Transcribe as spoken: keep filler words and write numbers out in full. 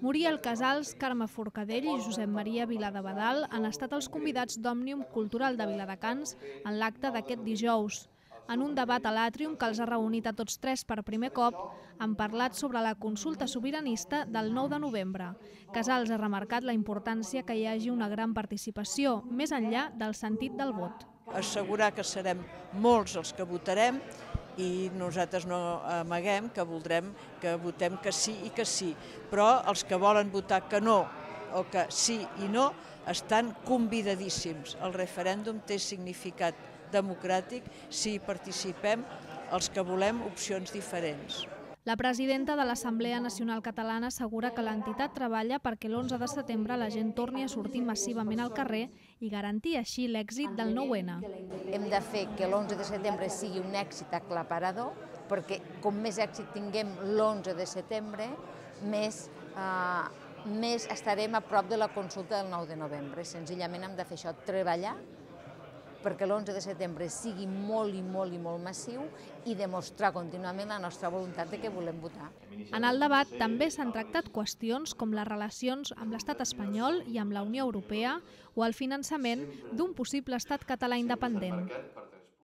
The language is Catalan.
Muriel Casals, Carme Forcadell i Josep Maria Viladebadal han estat els convidats d'Òmnium Cultural de Viladecans en l'acte d'aquest dijous. En un debat a l'Àtrium que els ha reunit a tots tres per primer cop, han parlat sobre la consulta sobiranista del nou de novembre. Casals ha remarcat la importància que hi hagi una gran participació, més enllà del sentit del vot. Assegurar que serem molts els que votarem i nosaltres no amaguem que voldrem que votem que sí i que sí, però els que volen votar que no o que sí i no estan convidadíssims. El referèndum té significat democràtic si hi participem els que volem opcions diferents. La presidenta de l'Assemblea Nacional Catalana assegura que l'entitat treballa perquè l'onze de setembre la gent torni a sortir massivament al carrer i garantir així l'èxit del nou ene. Hem de fer que l'onze de setembre sigui un èxit aclaparador, perquè com més èxit tinguem l'onze de setembre, més, eh, més estarem a prop de la consulta del nou de novembre. Senzillament hem de fer això, treballar perquè l'onze de setembre sigui molt i molt i molt massiu i demostrar contínuament la nostra voluntat de que volem votar. En el debat també s'han tractat qüestions com les relacions amb l'estat espanyol i amb la Unió Europea o el finançament d'un possible estat català independent.